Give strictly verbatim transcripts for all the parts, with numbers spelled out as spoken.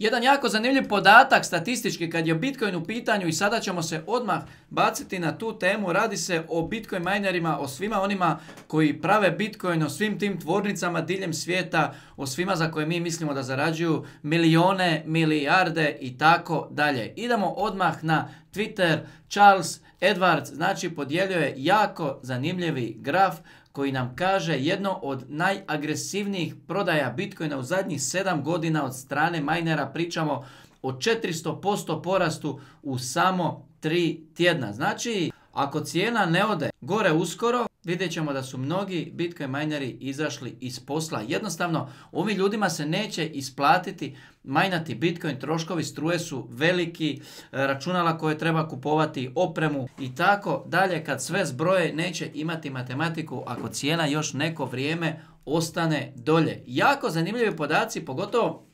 Jedan jako zanimljiv podatak statistički kad je Bitcoin u pitanju i sada ćemo se odmah baciti na tu temu. Radi se o Bitcoin minerima, o svima onima koji prave Bitcoin, o svim tim tvornicama diljem svijeta, o svima za koje mi mislimo da zarađuju milijone, milijarde i tako dalje. Idemo odmah na Twitter. Charles Edwards znači podijelio jako zanimljivi graf koji nam kaže jedno od najagresivnijih prodaja Bitcoina u zadnjih sedam godina od strane minera. Pričamo o četiristo posto porastu u samo tri tjedna. Znači, ako cijena ne ode gore uskoro, vidjet ćemo da su mnogi Bitcoin mineri izašli iz posla. Jednostavno, ovim ljudima se neće isplatiti majnati Bitcoin, troškovi struje su veliki, računala koje treba kupovati, opremu i tako dalje. Kad sve zbroje neće imati matematiku ako cijena još neko vrijeme ostane dolje. Jako zanimljivi podaci, pogotovo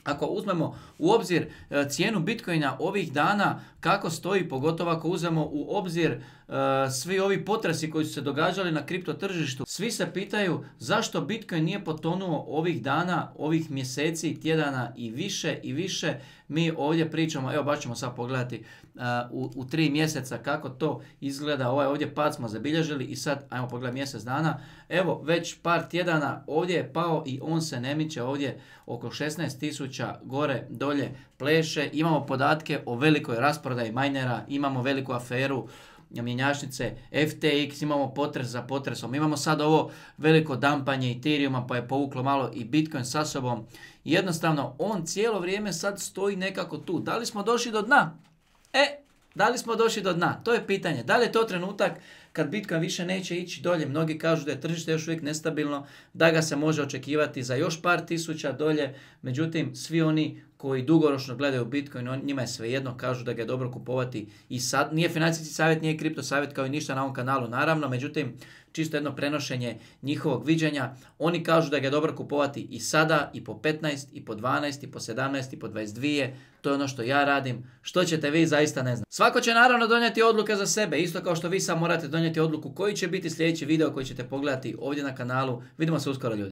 ako uzmemo u obzir cijenu Bitcoina ovih dana, kako stoji, pogotovo ako uzmemo u obzir uh, svi ovi potresi koji su se događali na kripto tržištu. Svi se pitaju zašto Bitcoin nije potonuo ovih dana, ovih mjeseci, tjedana i više i više. Mi ovdje pričamo, evo baš ćemo sad pogledati uh, u, u tri mjeseca kako to izgleda. Ovaj ovdje pad smo zabilježili i sad ajmo pogledati mjesec dana. Evo već par tjedana ovdje je pao i on se ne miče, ovdje oko šesnaest tisuća gore dolje pleše. Imamo podatke o velikoj rasprodaji minera, imamo veliku aferu mjenjačnice F T X, imamo potres za potresom, imamo sad ovo veliko dampanje Ethereuma pa je povuklo malo i Bitcoin sa sobom. Jednostavno on cijelo vrijeme sad stoji nekako tu. Da li smo došli do dna? E, da li smo došli do dna? To je pitanje. Da li je to trenutak kad Bitcoin više neće ići dolje? Mnogi kažu da je tržište još uvijek nestabilno, da ga se može očekivati za još par tisuća dolje. Međutim, svi oni koji dugoročno gledaju Bitcoin, on, njima je svejedno, kažu da ga je dobro kupovati i sad. Nije financijski savjet, nije kripto savjet kao i ništa na ovom kanalu, naravno. Međutim, čisto jedno prenošenje njihovog viđenja. Oni kažu da ga je dobro kupovati i sada, i po petnaest, i po dvanaest, i po sedamnaest, i po dvadeset dvije. To je ono što ja radim. Što ćete vi, zaista ne znam. Svako će naravno donijeti odluke za sebe. Isto kao što vi sad morate donijeti odluku koji će biti sljedeći video koji ćete pogledati ovdje na kanalu. Vidimo se uskoro, ljudi.